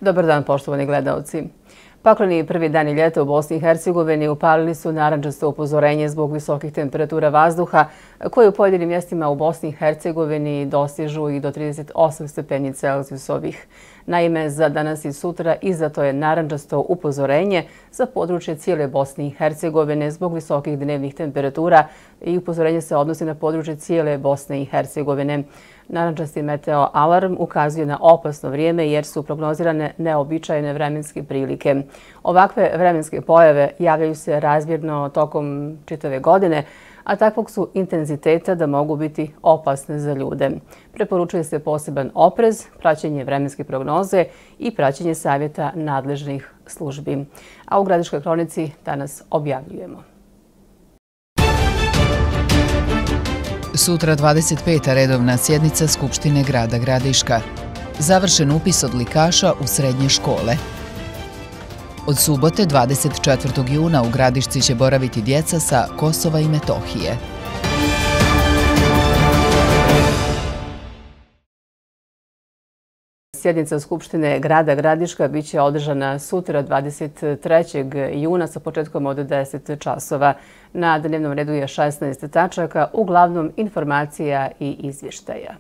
Dobar dan, poštovani gledaoci. Pakleni prvi dani ljeta u Bosni i Hercegovini upalili su narandžasto upozorenje zbog visokih temperatura vazduha koje u pojedinim mjestima u Bosni i Hercegovini dostižu i do 38 stepeni Celzijusovih. Naime, za danas i sutra izdato je narandžasto upozorenje za područje cijele Bosne i Hercegovine zbog visokih dnevnih temperatura i upozorenje se odnosi na područje cijele Bosne i Hercegovine. Narandžasti meteo alarm ukazuje na opasno vrijeme jer su prognozirane neobičajne vremenske prilike. Ovakve vremenske pojave javljaju se razmjerno tokom čitave godine, a takvog su intenziteta da mogu biti opasne za ljude. Preporučuje se poseban oprez, praćenje vremenske prognoze i praćenje savjeta nadležnih službi. A u Gradiškoj kronici danas objavljujemo. Sutra 25. redovna sjednica Skupštine grada Gradiška. Završen upis odlikaša u srednje škole. Od subote 24. juna u Gradišci će boraviti djeca sa Kosova i Metohije. Sjednica Skupštine grada Gradiška biće održana sutra 23. juna sa početkom od 10 časova. Na dnevnom redu je 16 tačaka, uglavnom informacija i izvještaja.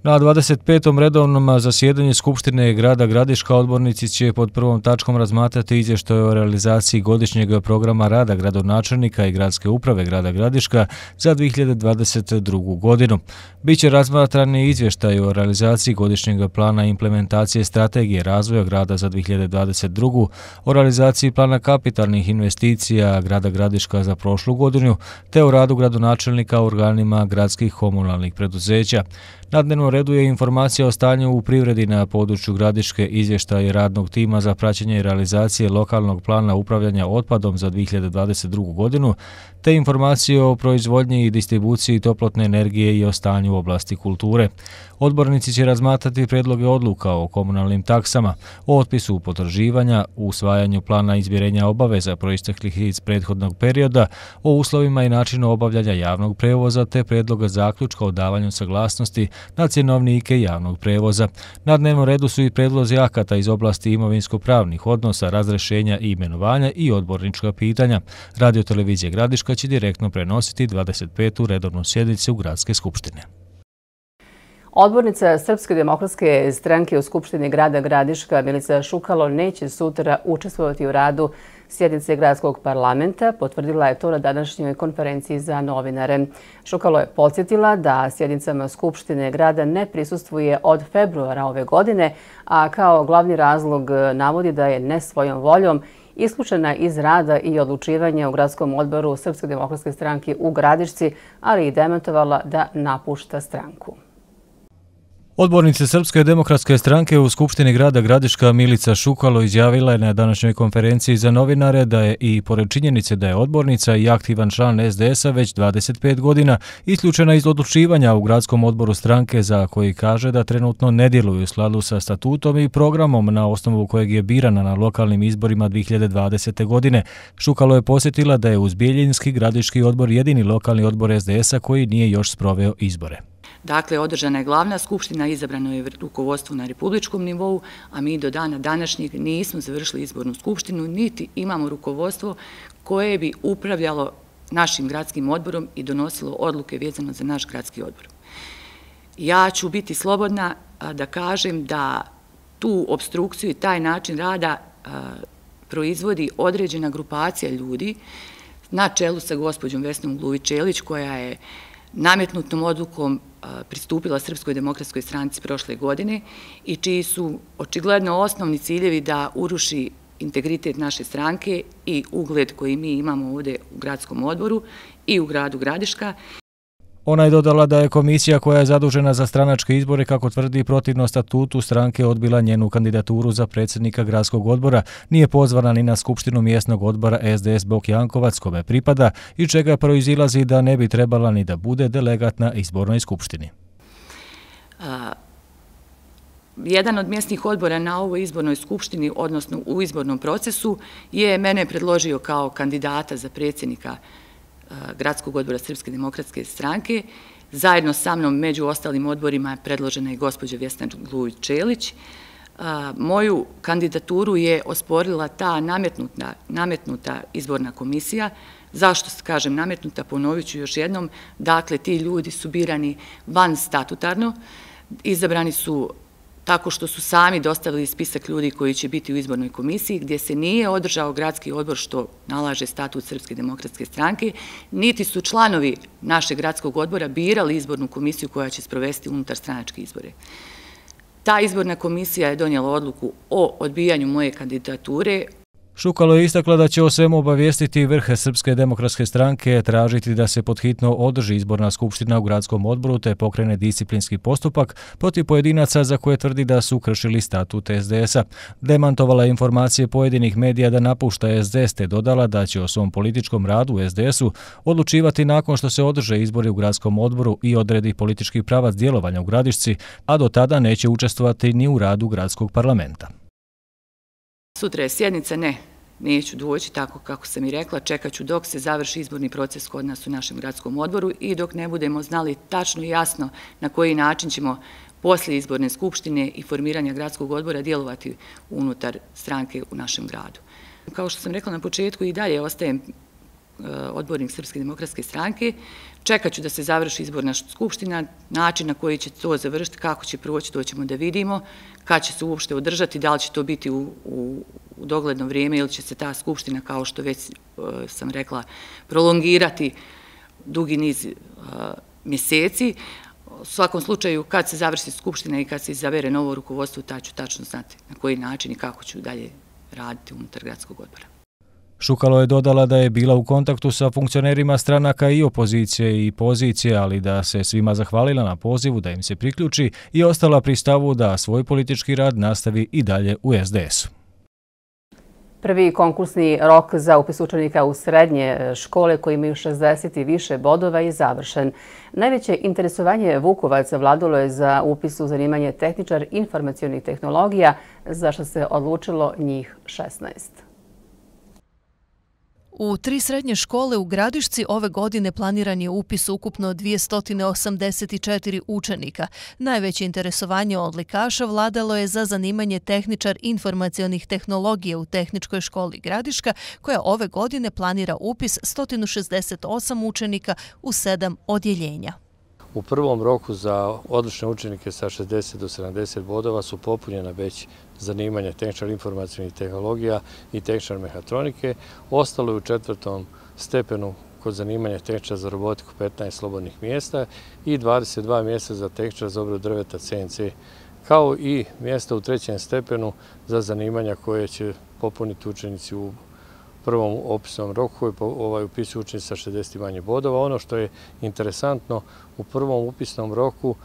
Na 25. redovnom zasjedanju Skupštine grada Gradiška odbornici će pod prvom tačkom razmatrati izvještaj o realizaciji godišnjeg programa rada gradonačelnika i gradske uprave grada Gradiška za 2022. godinu. Biće razmatrani izvještaj o realizaciji godišnjeg plana implementacije strategije razvoja grada za 2022. o realizaciji plana kapitalnih investicija grada Gradiška za prošlu godinu, te o radu gradonačelnika u organima gradskih komunalnih preduzeća. Na dnevnom redu je informacija o stanju u privredi na području Gradiške, izvještaj radnog tima za praćenje i realizacije lokalnog plana upravljanja otpadom za 2022. godinu, te informacije o proizvodnji i distribuciji toplotne energije i o stanju u oblasti kulture. Odbornici će razmatrati predloge odluka o komunalnim taksama, o otpisu potraživanja, o usvajanju plana izmirenja obaveza proisteklih iz prethodnog perioda, o uslovima i načinu obavljanja javnog prevoza, te predloga zaključka o davanju saglasnosti na cjenovnike javnog prevoza. Na dnevnom redu su i predlozi akata iz oblasti imovinsko-pravnih odnosa, razrešenja i imenovanja i odbornička pitanja. Radio-televizija Gradiška će direktno prenositi 25. redovnu sjednicu Gradske skupštine. Odbornica Srpske demokratske stranke u Skupštini grada Gradiška Milica Šukalo neće sutra učestvovati u radu sjednice gradskog parlamenta. Potvrdila je to na današnjoj konferenciji za novinare. Šukalo je podsjetila da sjednicama Skupštine grada ne prisustvuje od februara ove godine, a kao glavni razlog navodi da je ne svojom voljom isključena iz rada i odlučivanja u gradskom odboru Srpske demokratske stranke u Gradišci, ali i demantovala da napušta stranku. Odbornica Srpske demokratske stranke u Skupštini grada Gradiška Milica Šukalo izjavila je na današnjoj konferenciji za novinare da je i pored činjenice da je odbornica i aktivan član SDS-a već 25 godina isključena iz odlučivanja u gradskom odboru stranke za koji kaže da trenutno ne djeluju u skladu sa statutom i programom na osnovu kojeg je birana na lokalnim izborima 2020. godine. Šukalo je posjetila da je uz Bijeljinski gradiški odbor jedini lokalni odbor SDS-a koji nije još sproveo izbore. Dakle, održana je glavna skupština, izabrano je rukovodstvo na republičkom nivou, a mi do dana današnjeg nismo završili izbornu skupštinu, niti imamo rukovodstvo koje bi upravljalo našim gradskim odborom i donosilo odluke vezano za naš gradski odbor. Ja ću biti slobodna da kažem da tu obstrukciju i taj način rada proizvodi određena grupacija ljudi na čelu sa gospođom Vesnom Gluvić-Čelić, koja je nametnutom odlukom pristupila Srpskoj demokratskoj stranci prošle godine i čiji su očigledno osnovni ciljevi da uruši integritet naše stranke i ugled koji mi imamo ovdje u gradskom odboru i u gradu Gradiška. Ona je dodala da je komisija koja je zadužena za stranačke izbore, kako tvrdi, protivno statutu stranke odbila njenu kandidaturu za predsjednika gradskog odbora, nije pozvana ni na skupštinu mjesnog odbora SDS Bok Jankovac, kome pripada, i čega proizilazi da ne bi trebala ni da bude delegat na izbornoj skupštini. Jedan od mjesnih odbora na ovoj izbornoj skupštini, odnosno u izbornom procesu, je mene predložio kao kandidata za predsjednika Gradskog odbora Srpske demokratske stranke Zajedno sa mnom među ostalim odborima je predložena i gospođa Vesna Glujić-Čelić. Moju kandidaturu je osporila ta nametnuta izborna komisija. Zašto kažem nametnuta? Ponovit ću još jednom. Dakle, ti ljudi su birani van statutarno, izabrani su tako što su sami dostavili spisak ljudi koji će biti u izbornoj komisiji, gdje se nije održao gradski odbor, što nalaže statut Srpske demokratske stranke, niti su članovi našeg gradskog odbora birali izbornu komisiju koja će sprovesti unutar stranačke izbore. Ta izborna komisija je donijela odluku o odbijanju moje kandidature. Šukalo je istakla da će o svemu obavijestiti vrh Srpske demokratske stranke, tražiti da se podhitno održi izborna skupština u gradskom odboru te pokrene disciplinski postupak protiv pojedinaca za koje tvrdi da su kršili statut SDS-a. Demantovala je informacije pojedinih medija da napušta SDS te dodala da će o svom političkom radu u SDS-u odlučivati nakon što se održe izbori u gradskom odboru i odredi politički pravac djelovanja u Gradišci, a do tada neće učestvovati ni u radu gradskog parlamenta. Sutra je sjednica, neću doći, tako kako sam i rekla, čekat ću dok se završi izborni proces kod nas u našem gradskom odboru i dok ne budemo znali tačno i jasno na koji način ćemo poslije izborne skupštine i formiranja gradskog odbora djelovati unutar stranke u našem gradu. Kao što sam rekla na početku, i dalje ostajem odbornik Srpske demokratske stranke. Čekat ću da se završi izborna skupština, način na koji će to završiti, kako će proći, to ćemo da vidimo, kad će se uopšte održati, da li će to biti u dogledno vrijeme ili će se ta skupština, kao što već sam rekla, prolongirati dugi niz mjeseci. U svakom slučaju, kad se završi skupština i kad se izabere novo rukovodstvo, tad ću tačno znati na koji način i kako ću dalje raditi unutar gradskog odbora. Šukalo je dodala da je bila u kontaktu sa funkcionerima stranaka i opozicije i pozicije, ali da se svima zahvalila na pozivu da im se priključi i ostala pri stavu da svoj politički rad nastavi i dalje u SDS-u. Prvi konkursni rok za upis učenika u srednje škole koji imaju 60 i više bodova je završen. Najveće interesovanje Vukovaca vladalo je za upis u zanimanje tehničar informacionih tehnologija, za što se odlučilo njih 16. U 3 srednje škole u Gradišci ove godine planiran je upis ukupno 284 učenika. Najveće interesovanje odlikaša vladalo je za zanimanje tehničar informacionih tehnologija u Tehničkoj školi Gradiška, koja ove godine planira upis 168 učenika u 7 odjeljenja. U prvom roku za odlične učenike sa 60 do 70 bodova su popunjena već zanimanja tehničar informacionih tehnologija i tehničar mehatronike. Ostalo je u 4. stepenu kod zanimanja tehničar za robotiku 15 slobodnih mjesta i 22 mjesta za tehničar za obradu drveta CNC, kao i mjesta u 3. stepenu za zanimanja koje će popuniti učenici u prvom opisnom roku koji upisuju učenici sa 60 i manje bodova. Ono što je interesantno, u prvom upisnom roku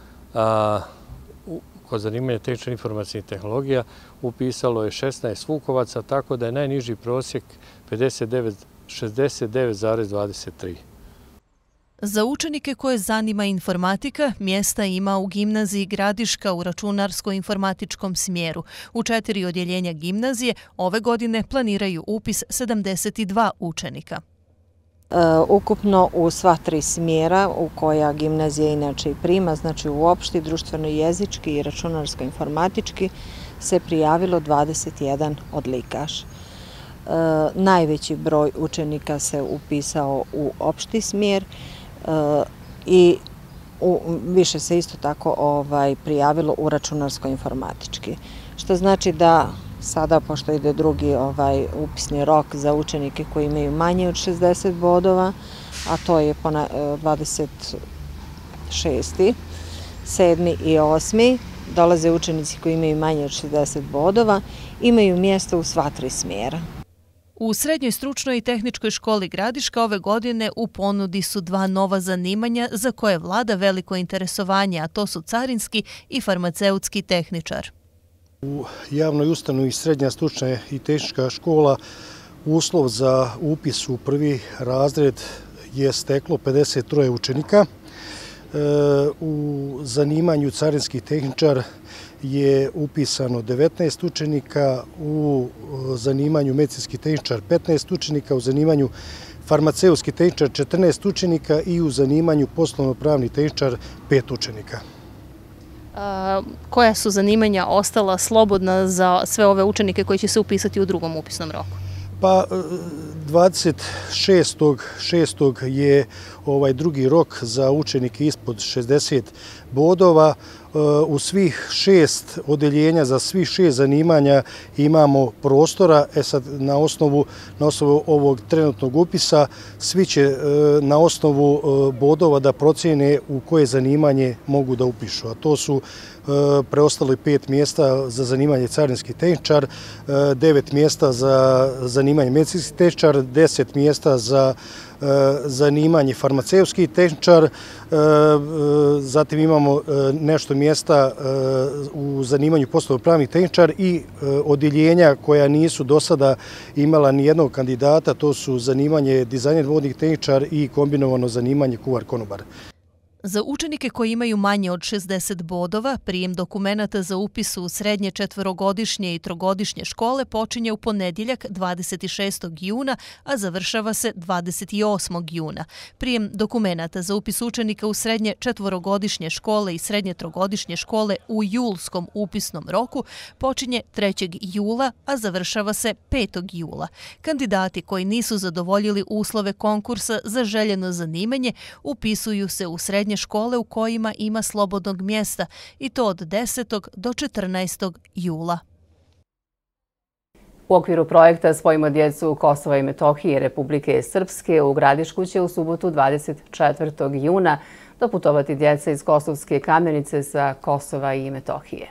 kod zanimanja tehničar informacijnih tehnologija upisalo je 16 Vukovaca, tako da je najniži prosjek 69,23. Za učenike koje zanima informatika, mjesta ima u gimnaziji Gradiška u računarsko-informatičkom smjeru. U 4 odjeljenja gimnazije ove godine planiraju upis 72 učenika. Ukupno u sva 3 smjera u koja gimnazija inače i prima, znači u opšti, društveno-jezički i računarsko-informatički, se prijavilo 21 odlikaš. Najveći broj učenika se upisao u opšti smjer i više se isto tako prijavilo u računarsko-informatički. Što znači da sada, pošto ide drugi upisni rok za učenike koji imaju manje od 60 bodova, a to je 26. 7. i 8. dolaze učenici koji imaju manje od 60 bodova, imaju mjesto u sva 3 smjera. U Srednjoj stručnoj i tehničkoj školi Gradiška ove godine u ponudi su 2 nova zanimanja za koje vlada veliko interesovanje, a to su carinski i farmaceutski tehničar. U javnoj ustanovi Srednja stručna i tehnička škola uslov za upis u prvi razred je steklo 53 učenika. U zanimanju carinski tehničar je upisano 19 učenika, u zanimanju medicinski tehničar 15 učenika, u zanimanju farmaceutski tehničar 14 učenika i u zanimanju poslovno-pravni tehničar 5 učenika. Koja su zanimanja ostala slobodna za sve ove učenike koji će se upisati u drugom upisnom roku? Pa 26.6. je drugi rok za učenike ispod 60 bodova. U svih 6 odeljenja, za svih 6 zanimanja imamo prostora. Sad, na osnovu ovog trenutnog upisa, svi će na osnovu bodova da procjene u koje zanimanje mogu da upišu. A to su preostalo 5 mjesta za zanimanje carinski tehničar, 9 mjesta za zanimanje medicinski tehničar, 10 mjesta za zanimanje farmaceutski tehničar, zatim imamo nešto mjesta u zanimanju poslovno-pravnih tehničar i odjeljenja koja nisu do sada imala ni jednog kandidata, to su zanimanje dizajner vodnih tehničar i kombinovano zanimanje kuvar-konobar. Za učenike koji imaju manje od 60 bodova, prijem dokumenata za upis u srednje četvorogodišnje i trogodišnje škole počinje u ponedjeljak 26. juna, a završava se 28. juna. Prijem dokumenata za upis učenika u srednje četvorogodišnje škole i srednje trogodišnje škole u julskom upisnom roku počinje 3. jula, a završava se 5. jula. Kandidati koji nisu zadovoljili uslove konkursa za željeno zanimanje upisuju se u srednje škole u kojima ima slobodnog mjesta i to od 10. do 14. jula. U okviru projekta Spojimo djecu Kosova i Metohije Republike Srpske u Gradišku će u subotu 24. juna doputovati djeca iz Kosovske Kamenice sa Kosova i Metohije.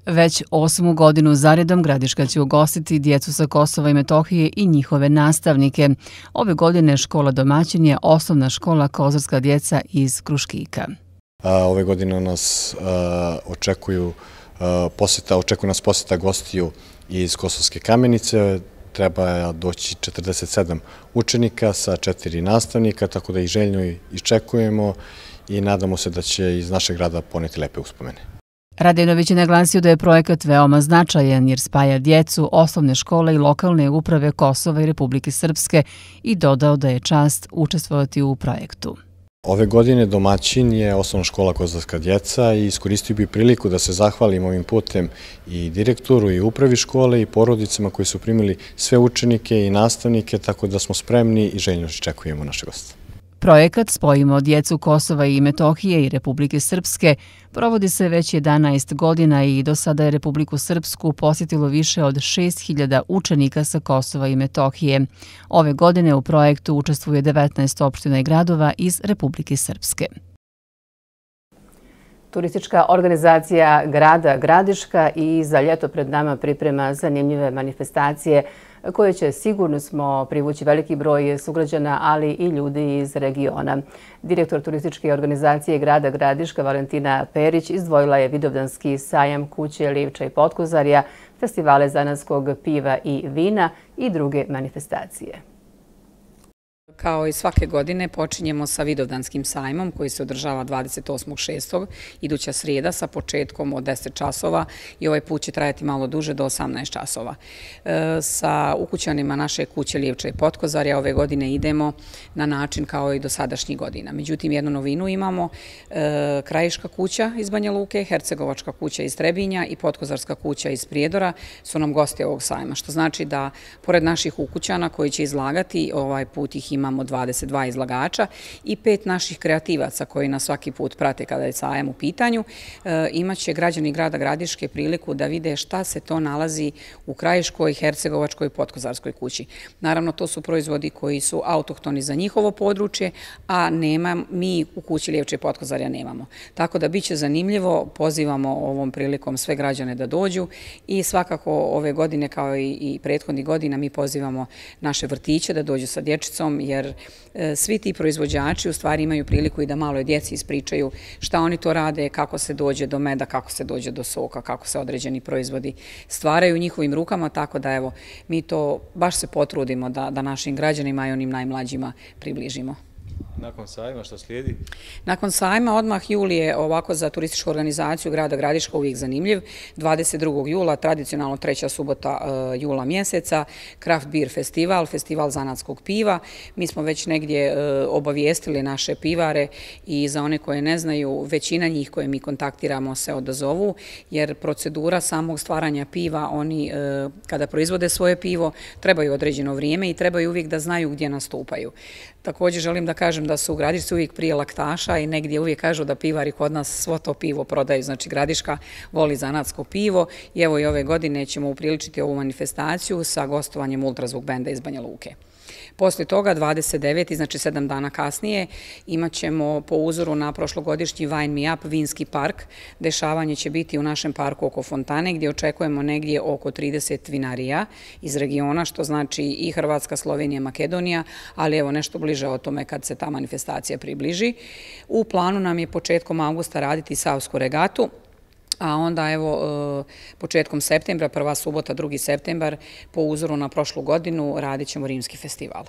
Već 8. godinu zaredom Gradiška će ugostiti djecu sa Kosova i Metohije i njihove nastavnike. Ove godine škola domaćin je osnovna škola Kozarska djeca iz Kruškika. Ove godine nas očekuje nas posjeta gostiju iz Kosovske Kamenice. Treba doći 47 učenika sa 4 nastavnika, tako da ih željno iščekujemo i nadamo se da će iz našeg grada poneti lepe uspomene. Radenović je naglasio da je projekat veoma značajan jer spaja djecu, osnovne škole i lokalne uprave Kosova i Republike Srpske i dodao da je čast učestvovati u projektu. Ove godine domaćin je osnovna škola Kozarska djeca i iskoristio bi priliku da se zahvalim ovim putem i direktoru i upravi škole i porodicama koji su primili sve učenike i nastavnike, tako da smo spremni i željno iščekujemo naše goste. Projekat Spojimo djecu Kosova i Metohije i Republike Srpske provodi se već 11 godina i do sada je Republiku Srpsku posjetilo više od 6.000 učenika sa Kosova i Metohije. Ove godine u projektu učestvuje 19 opština i gradova iz Republike Srpske. Turistička organizacija grada Gradiška i za ljeto pred nama priprema zanimljive manifestacije koje će, sigurno smo, privući veliki broj sugrađana, ali i ljudi iz regiona. Direktor turističke organizacije grada Gradiška Valentina Perić izdvojila je Vidovdanski sajam kuće Livča i Potkozarja, festivale zanatskog piva i vina i druge manifestacije. Kao i svake godine počinjemo sa Vidovdanskim sajmom koji se održava 28.6. iduća srijeda sa početkom od 10 časova i ovaj put će trajati malo duže do 18 časova. Sa ukućanima naše kuće Livča i Potkozarja ove godine idemo na način kao i do sadašnjih godina. Međutim, jednu novinu imamo, Krajiška kuća iz Banja Luke, Hercegovačka kuća iz Trebinja i Potkozarska kuća iz Prijedora su nam gosti ovog sajma, što znači da pored naših ukućana koji će izlagati, ovaj put ih imamo 22 izlagača i 5 naših kreativaca koji nas svaki put prate kada je sajam u pitanju. Imaće građani grada Gradiške priliku da vide šta se to nalazi u Krajiškoj, Hercegovačkoj i Potkozarskoj kući. Naravno, to su proizvodi koji su autohtoni za njihovo područje, a mi u kući Livča i Potkozarja nemamo. Tako da biće zanimljivo, pozivamo ovom prilikom sve građane da dođu i svakako ove godine kao i prethodnih godina mi pozivamo naše vrtiće da dođu sa dječicom, jer svi ti proizvođači u stvari imaju priliku i da maloj djeci ispričaju šta oni to rade, kako se dođe do meda, kako se dođe do soka, kako se određeni proizvodi stvaraju u njihovim rukama, tako da evo, mi to baš se potrudimo da našim građanima i onim najmlađima približimo. Nakon sajma šta slijedi? Nakon sajma odmah jul je ovako za turističku organizaciju grada Gradiška uvijek zanimljiv. 22. jula, tradicionalno 3. subota jula mjeseca, Craft Beer festival, festival zanatskog piva. Mi smo već negdje obavijestili naše pivare i za one koje ne znaju, većina njih koje mi kontaktiramo se odazovu, jer procedura samog stvaranja piva, oni kada proizvode svoje pivo trebaju određeno vrijeme i trebaju uvijek da znaju gdje nastupaju. Također želim da kažem da su u Gradišci uvijek prije laktaša i negdje uvijek kažu da pivari kod nas svo to pivo prodaju. Znači Gradiška voli zanatsko pivo i evo i ove godine ćemo upriličiti ovu manifestaciju sa gostovanjem Ultrazvuk benda iz Banja Luke. Poslije toga, 29. znači 7 dana kasnije, imat ćemo po uzoru na prošlogodišnji Wine Me Up vinski park. Dešavanje će biti u našem parku oko fontane gdje očekujemo negdje oko 30 vinarija iz regiona, što znači i Hrvatska, Slovenija, Makedonija, ali evo nešto bliže o tome kad se ta manifestacija približi. U planu nam je početkom avgusta raditi Savsku regatu, a onda evo početkom septembra, prva subota, 2. septembar, po uzoru na prošlu godinu radit ćemo Rimski festival.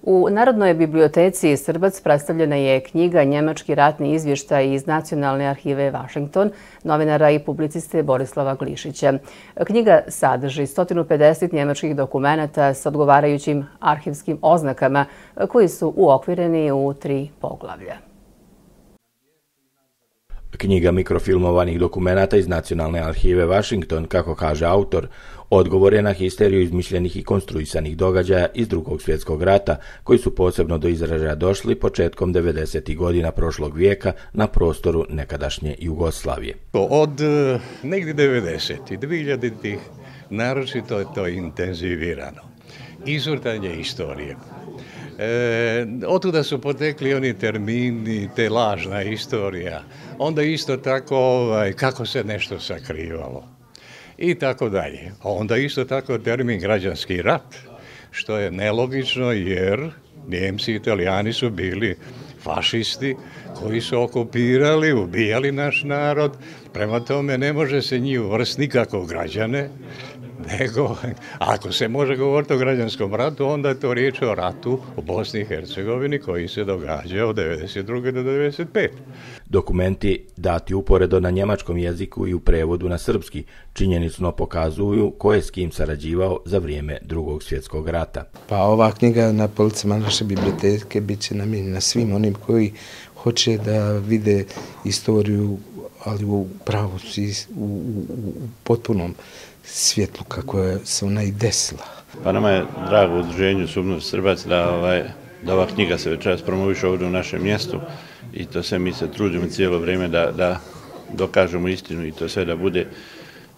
U Narodnoj biblioteci Srbac predstavljena je knjiga Njemački ratni izvještaj iz Nacionalne arhive Washington, novinara i publiciste Borislava Glišića. Knjiga sadrži 150 njemačkih dokumenata s odgovarajućim arhivskim oznakama koji su uokvireni u 3 poglavlja. Knjiga mikrofilmovanih dokumenata iz Nacionalne arhive Washington, kako kaže autor, odgovor je na histeriju izmišljenih i konstruisanih događaja iz Drugog svjetskog rata, koji su posebno do izražaja došli početkom 90. godina prošlog vijeka na prostoru nekadašnje Jugoslavije. Od negdje 90. i 2000. naročito je to intenzivirano. Izvrtanje istorije. Otuda su potekli oni termini, te lažna istorija. Onda isto tako kako se nešto sakrivalo i tako dalje. Onda isto tako termin građanski rat, što je nelogično jer Njemci i Italijani su bili fašisti koji su okupirali, ubijali naš narod. Prema tome ne može se njih uvrstiti nikako građane, nego ako se može govoriti o građanskom ratu, onda je to riječ o ratu u Bosni i Hercegovini koji se događa od 1992. do 1995. Dokumenti dati uporedo na njemačkom jeziku i u prevodu na srpski činjenično pokazuju ko je s kim sarađivao za vrijeme Drugog svjetskog rata. Pa ova knjiga na policama naše biblioteke bit će namijenjena svim onim koji hoće da vide istoriju, ali u pravu, u potpunom svjetlu kako se ona i desila. Pa nama je drago u udruženju Subnost Srbac da ova knjiga se večeras promoviše ovdje u našem mjestu i to sve mi se trudimo cijelo vrijeme da dokažemo istinu i to sve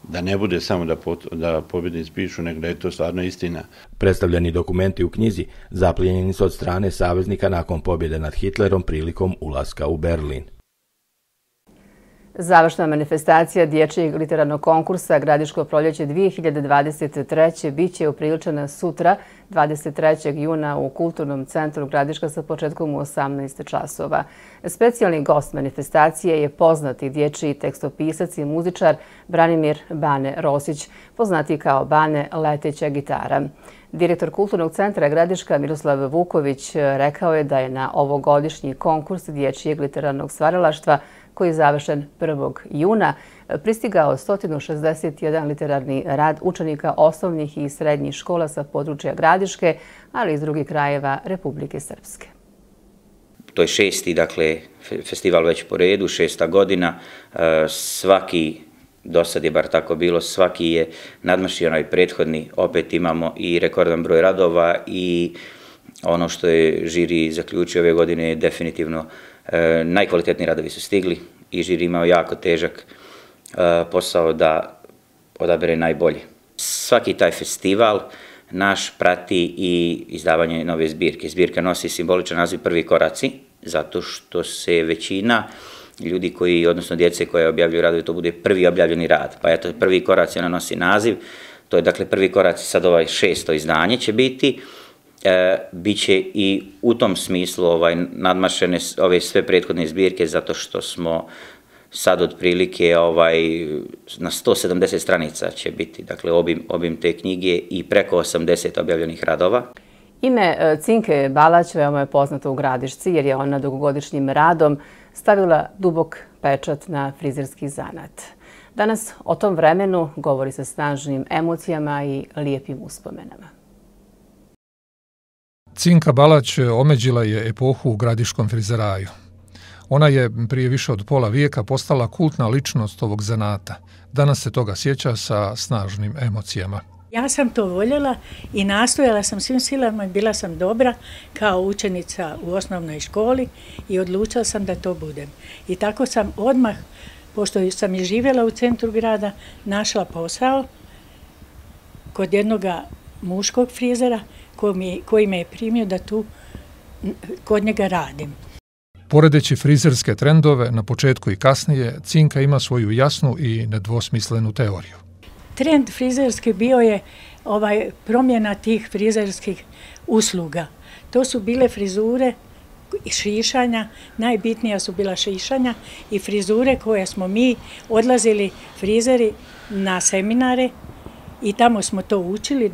da ne bude samo da pobjednici pišu, nego da je to stvarno istina. Predstavljeni dokumenti u knjizi zaplijenjeni su od strane saveznika nakon pobjede nad Hitlerom prilikom ulaska u Berlin. Završna manifestacija dječjeg literarnog konkursa Gradiško proljeće 2023. bit će upriličena sutra, 23. juna u Kulturnom centru Gradiška sa početkom u 18 časova. Specijalni gost manifestacije je poznati dječji tekstopisac i muzičar Branimir Bane Rosić, poznati kao Bane leteća gitara. Direktor Kulturnog centra Gradiška Miroslav Vuković rekao je da je na ovogodišnji konkurs dječjeg literarnog stvaralaštva koji je završen 1. juna, pristigao 161 literarni rad učenika osnovnih i srednjih škola sa područja Gradiške, ali i iz drugih krajeva Republike Srpske. To je 6. dakle, festival već po redu, 6. godina. Svaki, do sad je bar tako bilo, svaki je nadmašio onaj prethodni. Opet imamo i rekordan broj radova i ono što je žiri zaključio ove godine je definitivno najkvalitetniji radovi su stigli i žiri imao jako težak posao da odabere najbolje. Svaki taj festival naš prati i izdavanje nove zbirke. Zbirka nosi simboličan naziv Prvi koraci, zato što se većina ljudi koji, odnosno djece koje objavljuju radove, to bude prvi objavljeni rad. Pa eto, Prvi koraci ona nosi naziv, to je dakle Prvi koraci, sad ovaj 6. izdanje će biti. Biće i u tom smislu nadmašene ove sve prethodne zbirke zato što smo sad otprilike na 170 stranica će biti, dakle obim te knjige i preko 80 objavljenih radova. Ime Cinke Balać veoma je poznato u Gradišci jer je ona dugogodišnjim radom stavila dubok pečat na frizerski zanat. Danas o tom vremenu govori sa snažnim emocijama i lijepim uspomenama. Cinka Balać omeđila je epohu u gradiškom frizeraju. Ona je prije više od pola vijeka postala kultna ličnost ovog zanata. Danas se toga sjeća sa snažnim emocijama. Ja sam to voljela i nastojala sam svim silama i bila sam dobra kao učenica u osnovnoj školi i odlučila sam da to budem. I tako sam odmah, pošto sam i živjela u centru grada, našla posao kod jednog muškog frizera koji me je primio da tu kod njega radim. Poredeći frizerske trendove na početku i kasnije, Cinka ima svoju jasnu i nedvosmislenu teoriju. Trend frizerski bio je promjena tih frizerskih usluga. To su bile frizure i šišanja, najbitnija su bila šišanja i frizure koje smo mi odlazili frizeri na seminare i tamo smo to učili,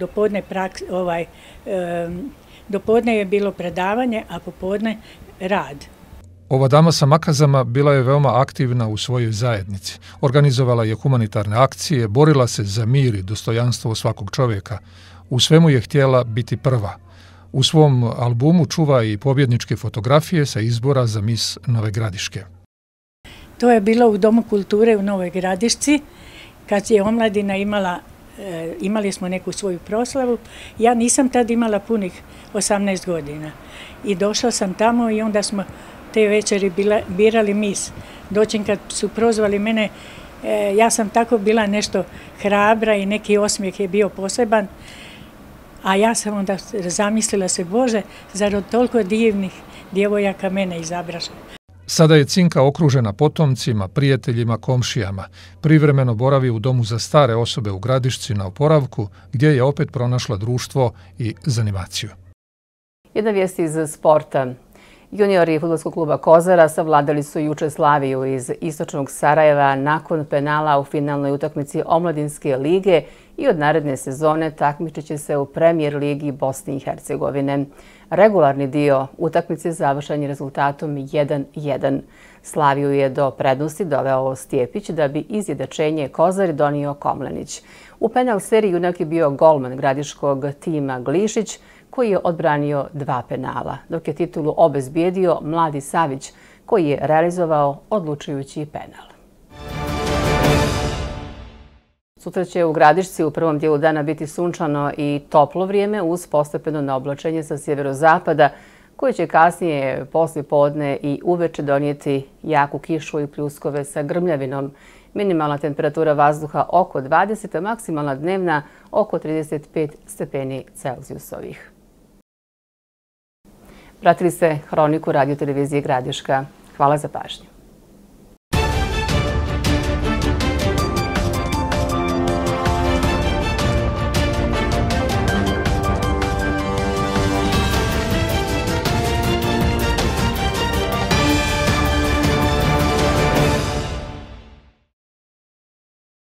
dopodne je bilo predavanje, a popodne rad. Ova dama sa makazama bila je veoma aktivna u svojoj zajednici. Organizovala je humanitarne akcije, borila se za mir i dostojanstvo svakog čovjeka. U svemu je htjela biti prva. U svom albumu čuva i pobjedničke fotografije sa izbora za Mis Nove Gradiške. To je bilo u Domu kulture u Novoj Gradišci, kad je omladina imali smo neku svoju proslavu. Ja nisam tad imala punih 18 godina i došla sam tamo i onda smo te večeri birali mis. Doćim kad su prozvali mene, ja sam tako bila nešto hrabra i neki osmijeh je bio poseban, a ja sam onda zamislila se, Bože, zar od toliko divnih djevojaka mene izabraše. Sada je Cinka okružena potomcima, prijateljima, komšijama. Privremeno boravi u domu za stare osobe u Gradišci na oporavku, gdje je opet pronašla društvo i zanimaciju. Jedna vijest iz sporta. Juniori fudbalskog kluba Kozara savladali su juče Slaviju iz istočnog Sarajeva nakon penala u finalnoj utakmici Omladinske lige i od naredne sezone takmičit će se u Premier ligi Bosne i Hercegovine. Regularni dio utakmice završen je rezultatom 1:1. Slaviju je do prednosti doveo Stjepić da bi izjednačenje Kozari donio Komlenić. U penal seriji junak je bio golman gradiškog tima Glišić, koji je odbranio 2 penala, dok je titulu obezbijedio Mladi Savić, koji je realizovao odlučujući penal. Sutra će u Gradišci u prvom dijelu dana biti sunčano i toplo vrijeme uz postepeno naoblačenje sa sjeverozapada, koje će kasnije poslijepodne i uveče donijeti jaku kišu i pljuskove sa grmljavinom. Minimalna temperatura vazduha oko 20, a maksimalna dnevna oko 35 stepeni Celzijusovih. Pratili ste Hroniku Radio televizije Gradiška. Hvala za pažnju.